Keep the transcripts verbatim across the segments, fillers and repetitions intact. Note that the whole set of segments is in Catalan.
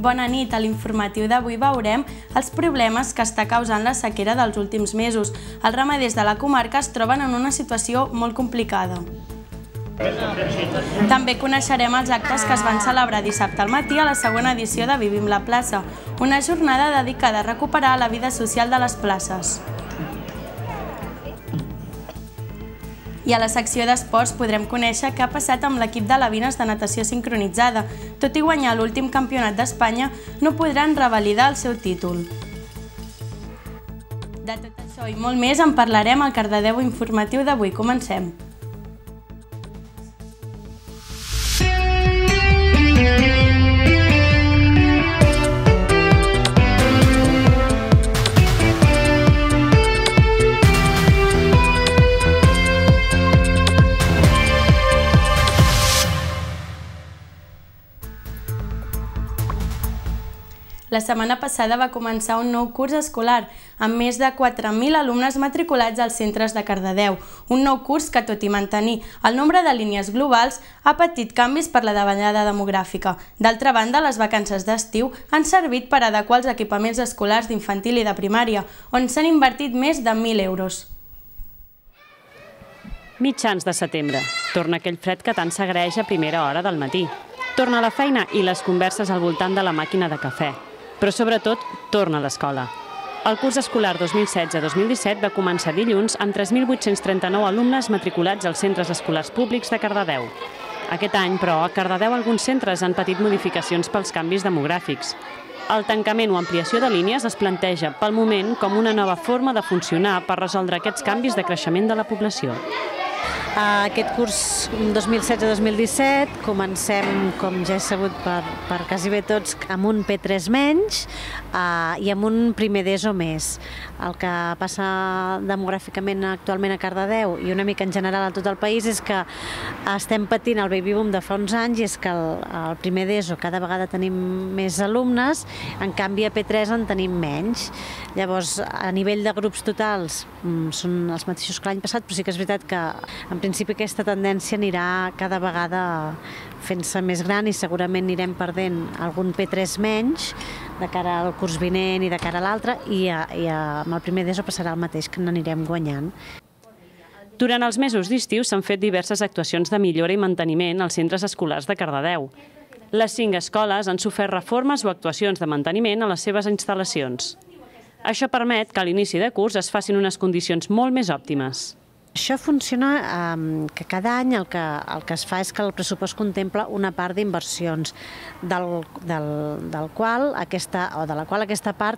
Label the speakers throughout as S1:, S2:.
S1: Bona nit, a l'informatiu d'avui veurem els problemes que està causant la sequera dels últims mesos. Els ramaders de la comarca es troben en una situació molt complicada. També coneixerem els actes que es van celebrar dissabte al matí a la segona edició de Vivim la plaça, una jornada dedicada a recuperar la vida social de les places. I a la secció d'esports podrem conèixer què ha passat amb l'equip de Lavines de natació sincronitzada. Tot i guanyar l'últim campionat d'Espanya, no podran revalidar el seu títol. De tot això i molt més en parlarem al Cardedeu informatiu d'avui. Comencem. La setmana passada va començar un nou curs escolar, amb més de quatre mil alumnes matriculats als centres de Cardedeu. Un nou curs que, tot i mantenir el nombre de línies globals, ha patit canvis per la davallada demogràfica. D'altra banda, les vacances d'estiu han servit per adequar els equipaments escolars d'infantil i de primària, on s'han invertit més de mil euros.
S2: Mitjans de setembre. Torna aquell fred que tant s'agraeix a primera hora del matí. Torna a la feina i les converses al voltant de la màquina de cafè. Però sobretot, torna a l'escola. El curs escolar dos mil setze dos mil disset va començar dilluns amb tres mil vuit-cents trenta-nou alumnes matriculats als centres escolars públics de Cardedeu. Aquest any, però, a Cardedeu alguns centres han patit modificacions pels canvis demogràfics. El tancament o ampliació de línies es planteja, pel moment, com una nova forma de funcionar per resoldre aquests canvis de creixement de la població.
S3: Aquest curs dos mil setze dos mil disset comencem, com ja és sabut per, per quasi bé tots, amb un P tres menys eh, i amb un primer d'ESO més. El que passa demogràficament actualment a Cardedeu i una mica en general a tot el país és que estem patint el baby boom de fa uns anys i és que el, el primer d'ESO cada vegada tenim més alumnes, en canvi a P tres en tenim menys. Llavors, a nivell de grups totals són els mateixos que l'any passat, però sí que és veritat que en principi aquesta tendència anirà cada vegada fent-se més gran i segurament anirem perdent algun P tres menys de cara al curs vinent i de cara a l'altre i, a, i a, amb el primer d'ESO passarà el mateix, que n'anirem guanyant.
S2: Durant els mesos d'estiu s'han fet diverses actuacions de millora i manteniment als centres escolars de Cardedeu. Les cinc escoles han sofert reformes o actuacions de manteniment a les seves instal·lacions. Això permet que a l'inici de curs es facin unes condicions molt més òptimes.
S3: Això funciona eh, que cada any el que, el que es fa és que el pressupost contempla una part d'inversions, del, del, del qual aquesta, o de la qual aquesta part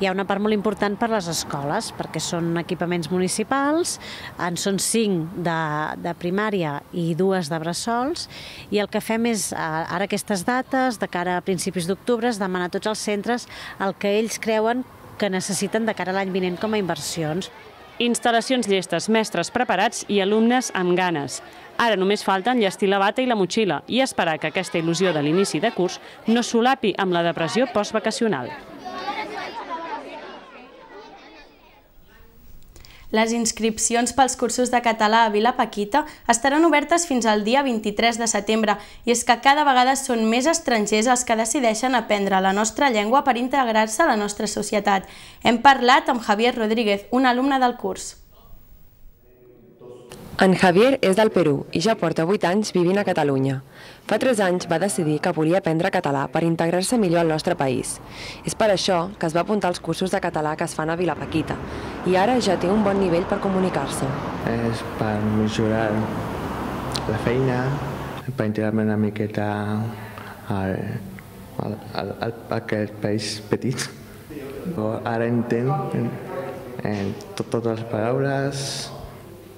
S3: hi ha una part molt important per a les escoles, perquè són equipaments municipals, en són cinc de, de primària i dues de bressols, i el que fem és, ara aquestes dates, de cara a principis d'octubre, es demana a tots els centres el que ells creuen que necessiten de cara a l'any vinent com a inversions.
S2: Instal·lacions llestes, mestres preparats i alumnes amb ganes. Ara només falta enllestir la bata i la motxilla i esperar que aquesta il·lusió de l'inici de curs no solapi amb la depressió postvacacional.
S1: Les inscripcions pels cursos de català a Vila Paquita estaran obertes fins al dia vint-i-tres de setembre i és que cada vegada són més estrangers els que decideixen aprendre la nostra llengua per integrar-se a la nostra societat. Hem parlat amb Javier Rodríguez, un alumne del curs.
S4: En Javier és del Perú i ja porta vuit anys vivint a Catalunya. Fa tres anys va decidir que volia aprendre català per integrar-se millor al nostre país. És per això que es va apuntar als cursos de català que es fan a Vila Paquita i ara ja té un bon nivell per comunicar-se.
S5: És per millorar la feina, per integrar-me una miqueta al, al, al, al, a aquest país petit. Ara entenc en totes les paraules.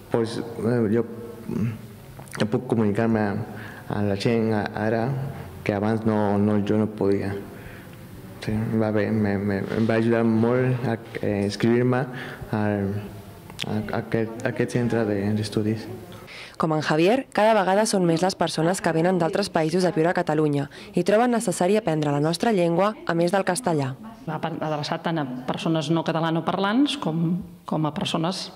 S5: Pues, jo, jo puc comunicar-me a la gent ara que abans no, no, jo no podia. Sí, va bé, me, me, em va ajudar molt a eh, inscriure-me a, a, a, aquest, a aquest centre d'estudis.
S4: Com en Javier, cada vegada són més les persones que venen d'altres països a viure a Catalunya i troben necessari aprendre la nostra llengua a més del castellà.
S6: Va adreçat tant a persones no catalanoparlants com, com a persones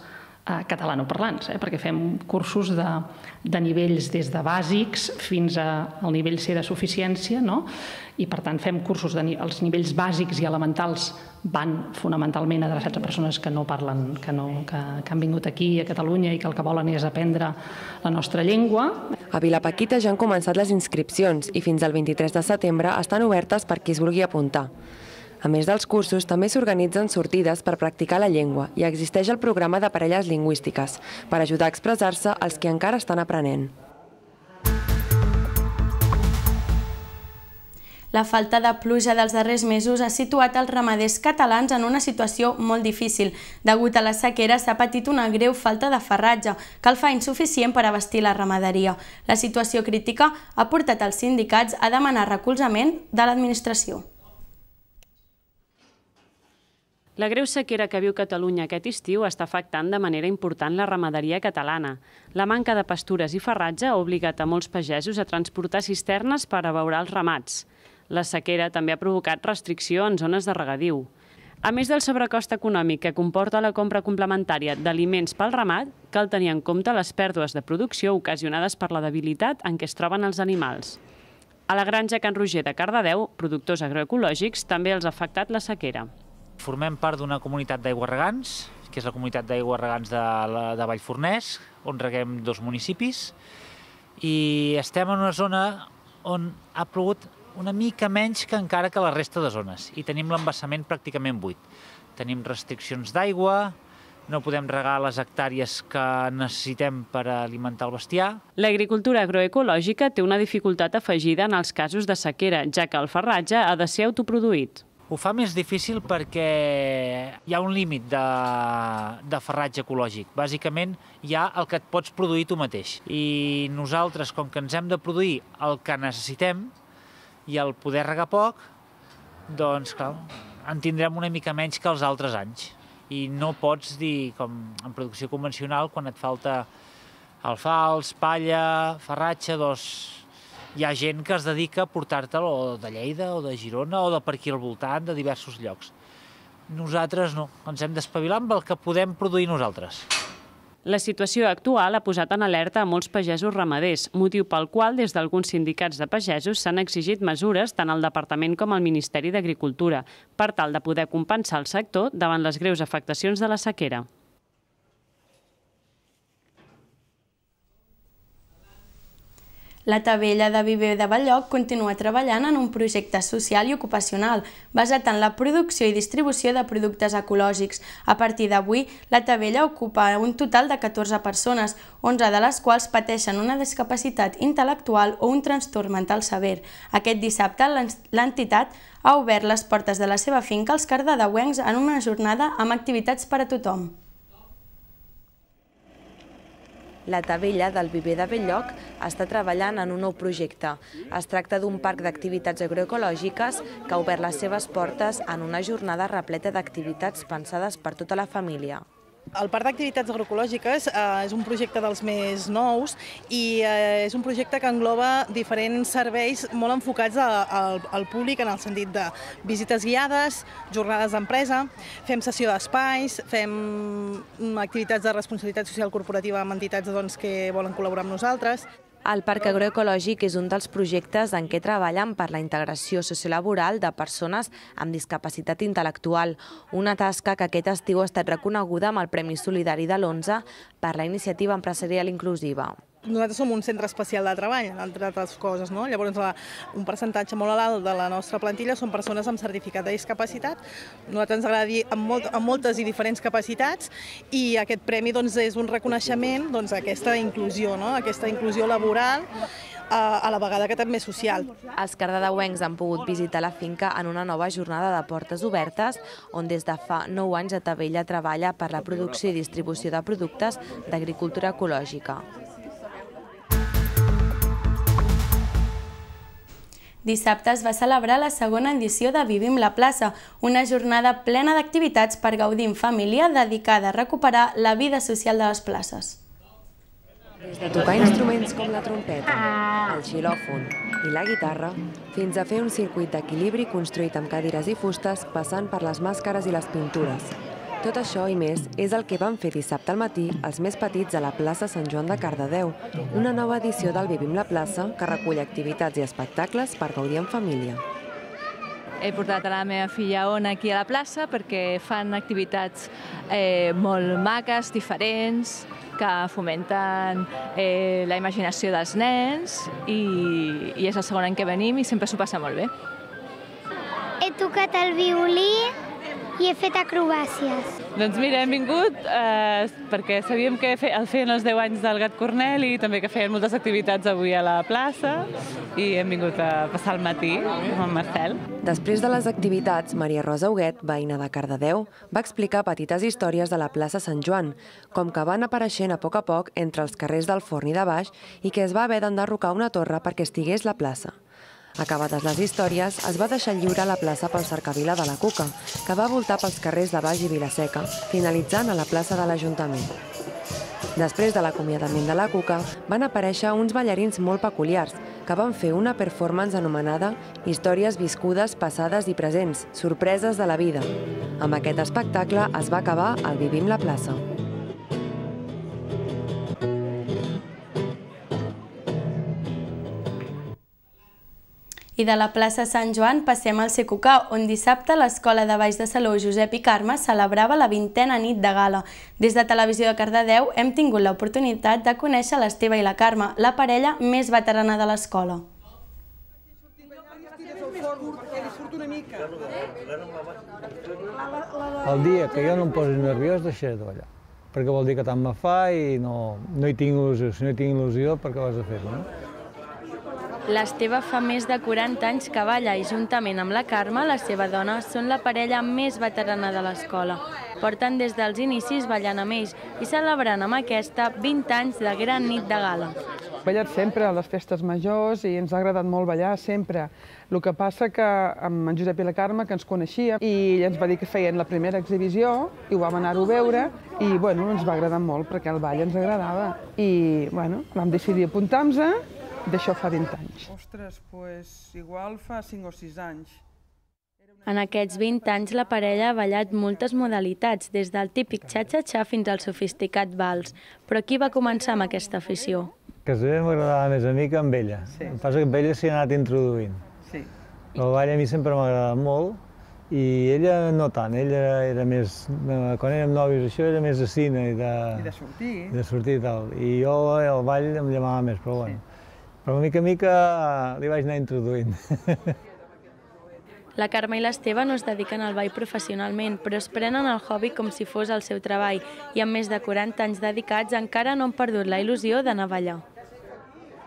S6: catalanoparlants, perquè fem cursos de nivells des de bàsics fins al nivell C de suficiència, i per tant fem cursos, els nivells bàsics i elementals van fonamentalment adreçats a persones que no parlen, que han vingut aquí a Catalunya i que el que volen és aprendre la nostra llengua.
S4: A Vilapaquita ja han començat les inscripcions i fins al vint-i-tres de setembre estan obertes per qui es vulgui apuntar. A més dels cursos, també s'organitzen sortides per practicar la llengua i existeix el programa de parelles lingüístiques per ajudar a expressar-se als que encara estan aprenent.
S1: La falta de pluja dels darrers mesos ha situat els ramaders catalans en una situació molt difícil. Degut a la sequera s'ha patit una greu falta de farratge, que el fa insuficient per abastir la ramaderia. La situació crítica ha portat els sindicats a demanar recolzament de l'administració.
S2: La greu sequera que viu Catalunya aquest estiu està afectant de manera important la ramaderia catalana. La manca de pastures i farratge ha obligat a molts pagesos a transportar cisternes per abeurar els ramats. La sequera també ha provocat restricció en zones de regadiu. A més del sobrecost econòmic que comporta la compra complementària d'aliments pel ramat, cal tenir en compte les pèrdues de producció ocasionades per la debilitat en què es troben els animals. A la granja Can Roger de Cardedeu, productors agroecològics, també els ha afectat la sequera.
S7: Formem part d'una comunitat d'aiguarregants, que és la comunitat d'aiguarregants de Vallforners, on reguem dos municipis, i estem en una zona on ha plogut una mica menys que encara que la resta de zones, i tenim l'embassament pràcticament buit. Tenim restriccions d'aigua, no podem regar les hectàrees que necessitem per alimentar el bestiar.
S2: L'agricultura agroecològica té una dificultat afegida en els casos de sequera, ja que el farratge ha de ser autoproduït.
S7: Ho fa més difícil perquè hi ha un límit de farratge ecològic. Bàsicament, hi ha el que et pots produir tu mateix. I nosaltres, com que ens hem de produir el que necessitem i el poder regar poc, doncs, clar, en tindrem una mica menys que els altres anys. I no pots dir, com en producció convencional, quan et falta alfals, palla, farratge, doncs hi ha gent que es dedica a portar-te'l o de Lleida o de Girona o de per aquí al voltant, de diversos llocs. Nosaltres no, ens hem d'espavilar amb el que podem produir nosaltres.
S2: La situació actual ha posat en alerta a molts pagesos ramaders, motiu pel qual des d'alguns sindicats de pagesos s'han exigit mesures tant al Departament com al Ministeri d'Agricultura per tal de poder compensar el sector davant les greus afectacions de la sequera.
S1: La Tavella de Viver de Belloc continua treballant en un projecte social i ocupacional basat en la producció i distribució de productes ecològics. A partir d'avui, la Tavella ocupa un total de catorze persones, onze de les quals pateixen una discapacitat intel·lectual o un trastorn mental sever. Aquest dissabte, l'entitat ha obert les portes de la seva finca als cardedeuencs en una jornada amb activitats per a tothom.
S8: La Tavella del Viver de Belloc està treballant en un nou projecte. Es tracta d'un parc d'activitats agroecològiques que ha obert les seves portes en una jornada repleta d'activitats pensades per tota la família.
S9: El Parc d'Activitats Agroecològiques és un projecte dels més nous i és un projecte que engloba diferents serveis molt enfocats al públic en el sentit de visites guiades, jornades d'empresa, fem sessió d'espais, fem activitats de responsabilitat social corporativa amb entitats que volen col·laborar amb nosaltres.
S8: El Parc Agroecològic és un dels projectes en què treballen per la integració sociolaboral de persones amb discapacitat intel·lectual, una tasca que aquest estiu ha estat reconeguda amb el Premi Solidari de l'onze per la Iniciativa Empresarial Inclusiva.
S9: Nosaltres som un centre especial de treball, entre altres coses. Llavors, un percentatge molt alt de la nostra plantilla són persones amb certificat de discapacitat. A nosaltres ens agrada dir amb moltes i diferents capacitats i aquest premi és un reconeixement d'aquesta inclusió, aquesta inclusió laboral, a la vegada que també social.
S8: Els cardedeuencs han pogut visitar la finca en una nova jornada de portes obertes, on des de fa nou anys a Tavella treballa per la producció i distribució de productes d'agricultura ecològica.
S1: Dissabte es va celebrar la segona edició de Vivim la plaça, una jornada plena d'activitats per gaudir en família dedicada a recuperar la vida social de les places.
S4: Des de tocar instruments com la trompeta, el xilòfon i la guitarra, fins a fer un circuit d'equilibri construït amb cadires i fustes passant per les màscares i les pintures. Tot això i més és el que van fer dissabte al matí els més petits a la plaça Sant Joan de Cardedeu, una nova edició del Vivim la plaça que recull activitats i espectacles per gaudir en família.
S10: He portat a la meva filla Ona aquí a la plaça perquè fan activitats eh, molt maques, diferents, que fomenten eh, la imaginació dels nens i, i és el segon any que venim i sempre s'ho passa molt bé.
S11: He tocat el violí i he fet acrobàcies.
S12: Doncs mira, hem vingut eh, perquè sabíem que el feien els deu anys del Gat Cornel i també que feien moltes activitats avui a la plaça i hem vingut a passar el matí amb en Marcel.
S4: Després de les activitats, Maria Rosa Huguet, veïna de Cardedeu, va explicar petites històries de la plaça Sant Joan, com que van apareixent a poc a poc entre els carrers del Forn i de Baix i que es va haver d'enderrocar una torre perquè estigués la plaça. Acabades les històries, es va deixar lliure la plaça pel cercavila de la Cuca, que va voltar pels carrers de Baix i Vilaseca, finalitzant a la plaça de l'Ajuntament. Després de l'acomiadament de la Cuca, van aparèixer uns ballarins molt peculiars, que van fer una performance anomenada Històries viscudes, passades i presents, sorpreses de la vida. Amb aquest espectacle es va acabar el Vivim la plaça.
S1: I de la plaça Sant Joan passem al Secucà, on dissabte l'Escola de Baix de Salou Josep i Carme celebrava la vintena nit de gala. Des de Televisió de Cardedeu hem tingut l'oportunitat de conèixer l'Esteve i la Carme, la parella més veterana de l'escola.
S13: El dia que jo no em posi nerviós deixaré de ballar, perquè vol dir que tant me fa i no hi tinc il·lusió. Si no hi tinc il·lusió, per què ho has de fer, no?
S1: L'Esteve fa més de quaranta anys que balla i juntament amb la Carme, la seva dona, són la parella més veterana de l'escola. Porten des dels inicis ballant amb ells i celebrant amb aquesta vint anys de gran nit de gala.
S14: He ballat sempre a les festes majors i ens ha agradat molt ballar sempre. El que passa que amb en Josep i la Carme, que ens coneixíem, i ell ens va dir que feien la primera exhibició i ho vam anar-ho a veure i bueno, ens va agradar molt perquè el ball ens agradava. I bueno, vam decidir apuntar-nos-a. D'això fa vint anys.
S15: Ostres, doncs igual fa cinc o sis anys.
S1: En aquests vint anys la parella ha ballat moltes modalitats, des del típic xa-xa-xa fins al sofisticat vals. Però qui va començar amb aquesta afició?
S13: Gairebé m'agradava més a mi que amb ella. El que passa que amb ella s'hi ha anat introduint. El ball a mi sempre m'ha agradat molt i ella no tant. Ella era més, quan érem nòvios això, era més de cine i de sortir i tal. I jo el ball em llamava més, però bueno. Però mica a mica li vaig anar introduint.
S1: La Carme i l'Esteve no es dediquen al ball professionalment, però es prenen el hobby com si fos el seu treball i amb més de quaranta anys dedicats encara no han perdut la il·lusió d'anar a ballar.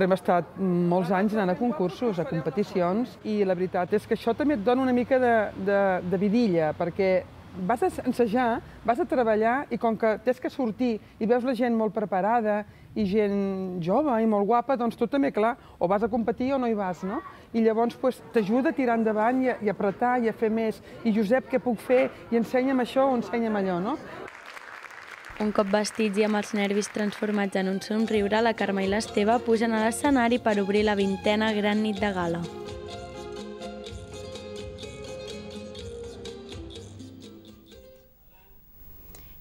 S14: Hem estat molts anys anant a concursos, a competicions, i la veritat és que això també et dona una mica de, de, de vidilla, perquè vas a ensejar, vas a treballar i com que tens que sortir i veus la gent molt preparada i gent jove i molt guapa, doncs tu també, clar, o vas a competir o no hi vas, no? I llavors t'ajuda a tirar endavant i a apretar i a fer més. I Josep, què puc fer? I ensenya'm això o ensenya'm allò, no?
S1: Un cop vestits i amb els nervis transformats en un somriure, la Carme i l'Esteve pugen a l'escenari per obrir la vintena gran nit de gala.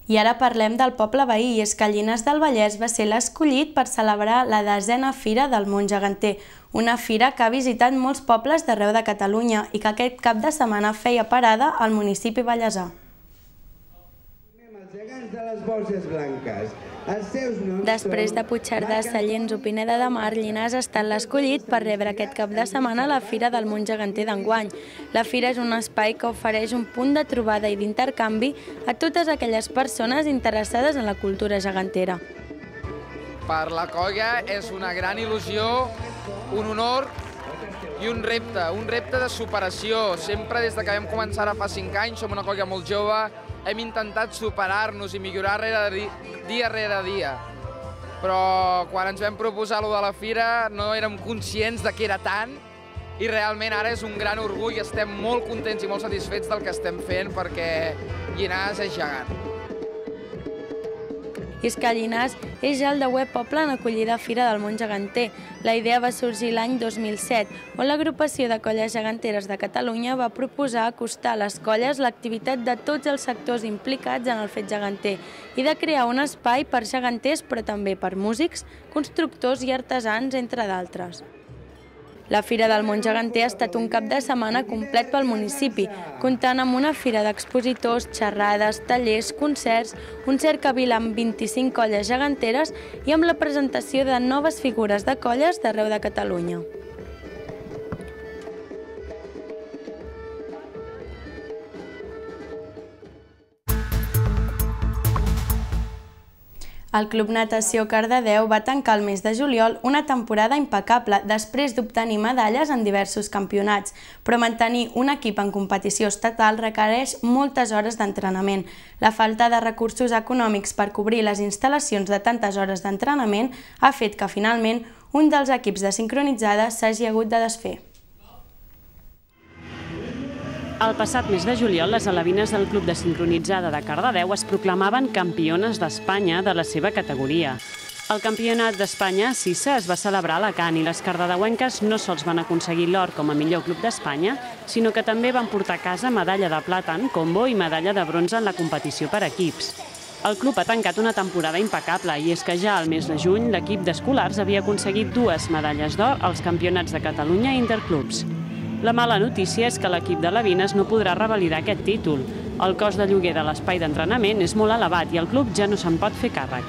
S1: I ara parlem del poble veí, i és que Llinars del Vallès va ser l'escollit per celebrar la desena Fira del Món Geganter, una fira que ha visitat molts pobles d'arreu de Catalunya i que aquest cap de setmana feia parada al municipi vallesà.
S16: Els gegants de les Borges Blanques.
S1: Després de Puigcerdà, Sallents o Pineda de Mar, Llinars ha estat l'escollit per rebre aquest cap de setmana la Fira del Món Geganter d'enguany. La fira és un espai que ofereix un punt de trobada i d'intercanvi a totes aquelles persones interessades en la cultura gegantera.
S17: Per la colla és una gran il·lusió, un honor i un repte, un repte de superació. Sempre des que vam començar ara fa cinc anys, som una colla molt jove, hem intentat superar-nos i millorar dia rere dia. Però quan ens vam proposar allò de la fira no érem conscients de que era tant i realment ara és un gran orgull, estem molt contents i molt satisfets del que estem fent perquè Llinars és gegant.
S1: I és que Llinars és ja el deuè poble en acollida Fira del Món Geganter. La idea va sorgir l'any dos mil set, on l'agrupació de colles geganteres de Catalunya va proposar acostar a les colles l'activitat de tots els sectors implicats en el fet geganter i de crear un espai per geganters, però també per músics, constructors i artesans, entre d'altres. La Fira del Món Geganter ha estat un cap de setmana complet pel municipi, comptant amb una fira d'expositors, xerrades, tallers, concerts, un cercavil amb vint-i-cinc colles geganteres i amb la presentació de noves figures de colles d'arreu de Catalunya. El Club Natació Cardedeu va tancar el mes de juliol una temporada impecable després d'obtenir medalles en diversos campionats, però mantenir un equip en competició estatal requereix moltes hores d'entrenament. La falta de recursos econòmics per cobrir les instal·lacions de tantes hores d'entrenament ha fet que finalment un dels equips de sincronitzada s'hagi hagut de desfer.
S2: El passat mes de juliol, les alevines del Club de Sincronitzada de Cardedeu es proclamaven campiones d'Espanya de la seva categoria. El Campionat d'Espanya a Sissa es va celebrar a Alacant i les cardedeuenques no sols van aconseguir l'or com a millor club d'Espanya, sinó que també van portar a casa medalla de plata en combo i medalla de bronze en la competició per equips. El club ha tancat una temporada impecable i és que ja al mes de juny l'equip d'escolars havia aconseguit dues medalles d'or als Campionats de Catalunya i Interclubs. La mala notícia és que l'equip de Levines no podrà revalidar aquest títol. El cost de lloguer de l'espai d'entrenament és molt elevat i el club ja no se'n pot fer càrrec.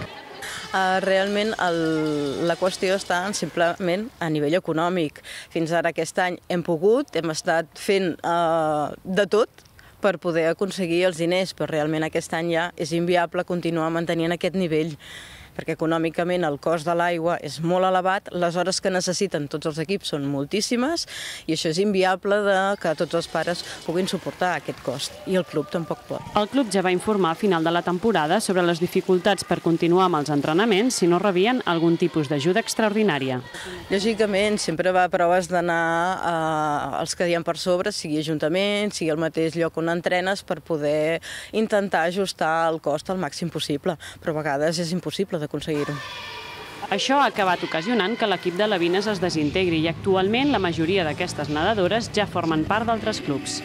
S18: Realment la qüestió està simplement a nivell econòmic. Fins ara aquest any hem pogut, hem estat fent de tot per poder aconseguir els diners, però realment aquest any ja és inviable continuar mantenint aquest nivell, perquè econòmicament el cost de l'aigua és molt elevat, les hores que necessiten tots els equips són moltíssimes i això és inviable que tots els pares puguin suportar aquest cost i el club tampoc pot.
S2: El club ja va informar al final de la temporada sobre les dificultats per continuar amb els entrenaments si no rebien algun tipus d'ajuda extraordinària.
S18: Lògicament, sempre va a proves d'anar als que hi ha per sobre, sigui ajuntament, sigui el mateix lloc on entrenes, per poder intentar ajustar el cost al màxim possible, però a vegades és impossible d'aconseguir-ho.
S2: Això ha acabat ocasionant que l'equip de Levines es desintegri i actualment la majoria d'aquestes nedadores ja formen part d'altres clubs.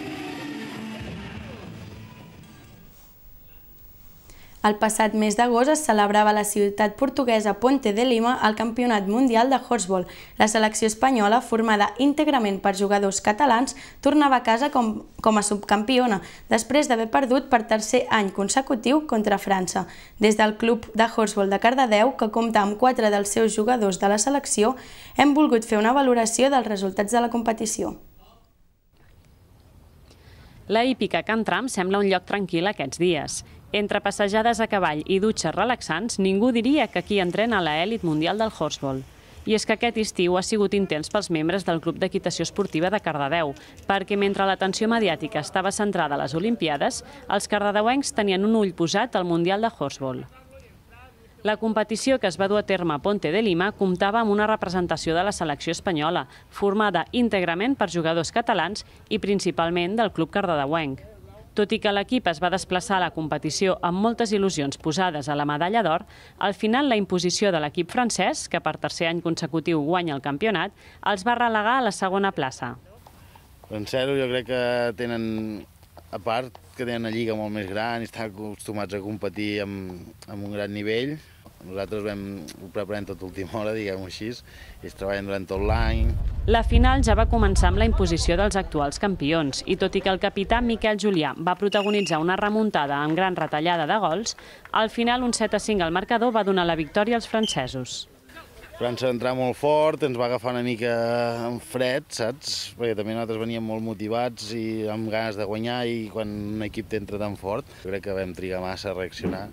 S1: El passat mes d'agost es celebrava a la ciutat portuguesa Ponte de Lima el Campionat Mundial de Horseball. La selecció espanyola, formada íntegrament per jugadors catalans, tornava a casa com, com a subcampiona, després d'haver perdut per tercer any consecutiu contra França. Des del Club de Horseball de Cardedeu, que compta amb quatre dels seus jugadors de la selecció, hem volgut fer una valoració dels resultats de la competició.
S2: La hípica Can Tram sembla un lloc tranquil aquests dies. Entre passejades a cavall i dutxes relaxants, ningú diria que aquí entrena l'elit mundial del horseball. I és que aquest estiu ha sigut intens pels membres del Club d'Equitació Esportiva de Cardedeu, perquè mentre l'atenció mediàtica estava centrada a les Olimpiades, els cardedeuencs tenien un ull posat al Mundial de Horseball. La competició que es va dur a terme a Ponte de Lima comptava amb una representació de la selecció espanyola, formada íntegrament per jugadors catalans i principalment del club cardedeuenc. Tot i que l'equip es va desplaçar a la competició amb moltes il·lusions posades a la medalla d'or, al final la imposició de l'equip francès, que per tercer any consecutiu guanya el campionat, els va relegar a la segona plaça.
S19: En zero jo crec que tenen, a part, que tenen una lliga molt més gran i estan acostumats a competir amb un gran nivell. Nosaltres vam ho preparem tot l'última hora, diguem-ho així, i es treballen durant tot l'any.
S2: La final ja va començar amb la imposició dels actuals campions, i tot i que el capità Miquel Julià va protagonitzar una remuntada amb gran retallada de gols, al final un set a cinc al marcador va donar la victòria als francesos.
S19: França va entrar molt fort, ens va agafar una mica en fred, saps? Perquè també nosaltres veníem molt motivats i amb ganes de guanyar, i quan un equip t'entra tan fort, crec que vam trigar massa a reaccionar.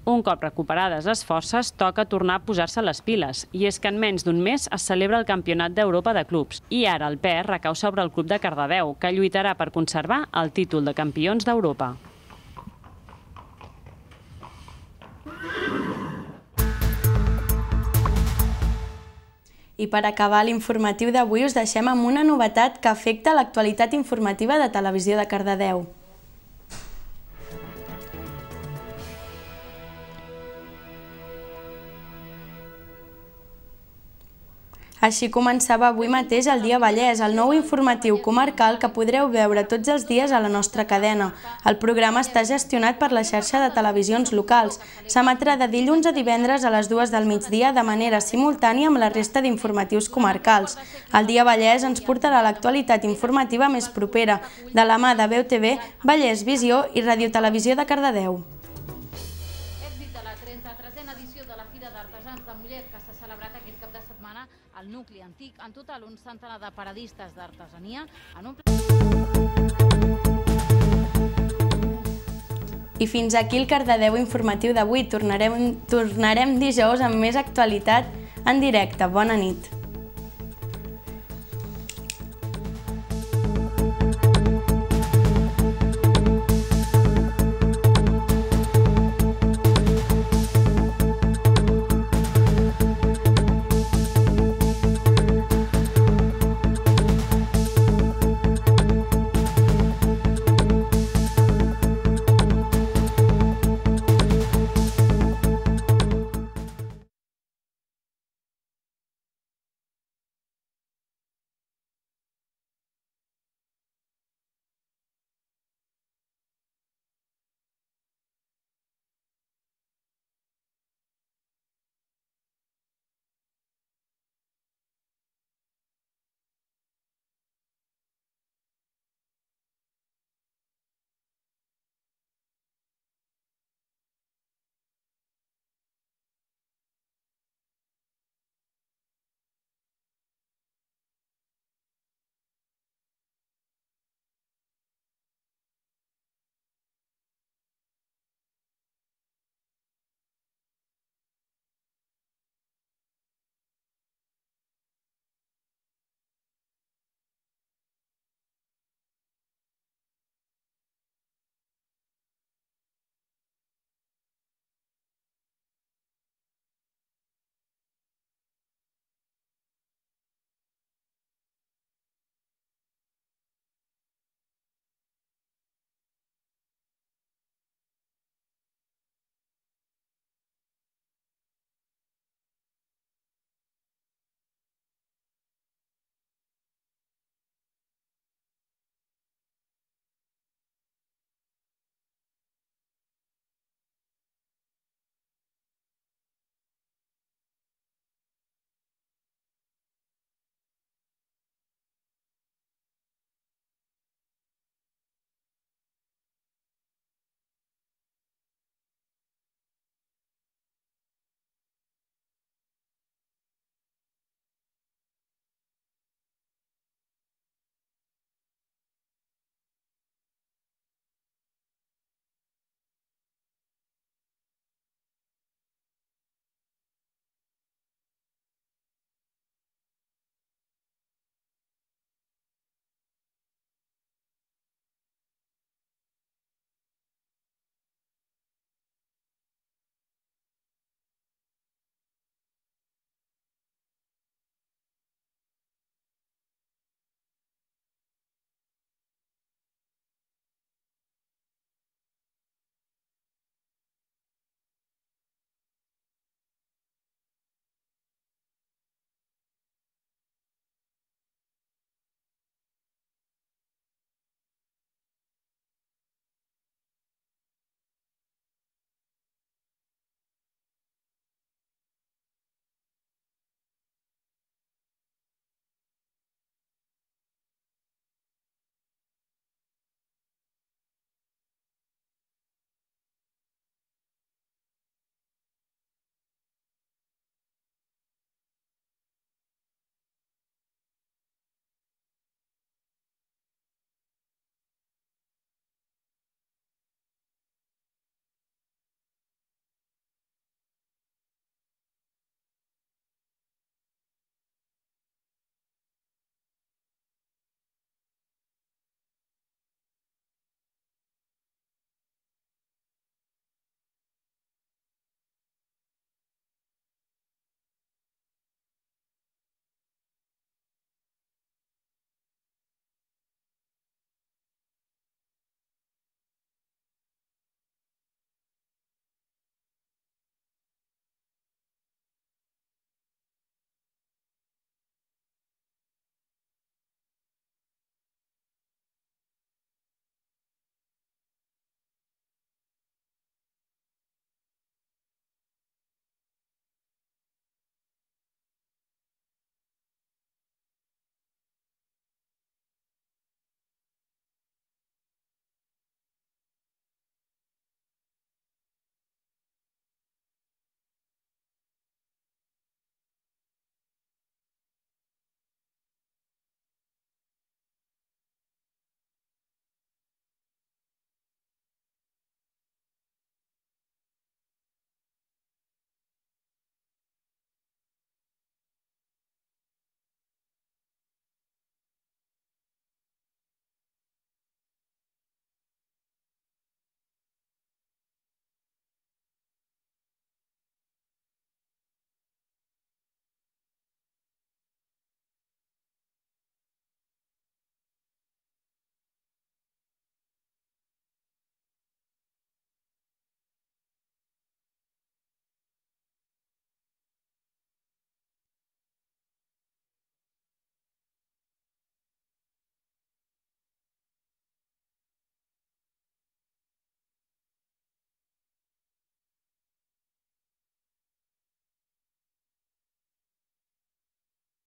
S2: Un cop recuperades les forces, toca tornar a posar-se les piles, i és que en menys d'un mes es celebra el Campionat d'Europa de Clubs, i ara el pes recau sobre el Club de Cardedeu, que lluitarà per conservar el títol de campions d'Europa.
S1: I per acabar l'informatiu d'avui us deixem amb una novetat que afecta l'actualitat informativa de Televisió de Cardedeu. Així començava avui mateix el Dia Vallès, el nou informatiu comarcal que podreu veure tots els dies a la nostra cadena. El programa està gestionat per la xarxa de televisions locals. S'emetrà de dilluns a divendres a les dues del migdia de manera simultània amb la resta d'informatius comarcals. El Dia Vallès ens portarà l'actualitat informativa més propera, de la mà de B E U T V, Vallès Visió i Ràdio Televisió de Cardedeu.
S20: Èxit de la trenta-tresena edició de la Fira d'Artesans de Mollet, que s'ha celebrat aquest cap de setmana al nucli antic. En total, un centenar de paradistes d'artesania en un...
S1: I fins aquí el Cardedeu informatiu d'avui. Tornarem, tornarem dijous amb més actualitat en directe. Bona nit.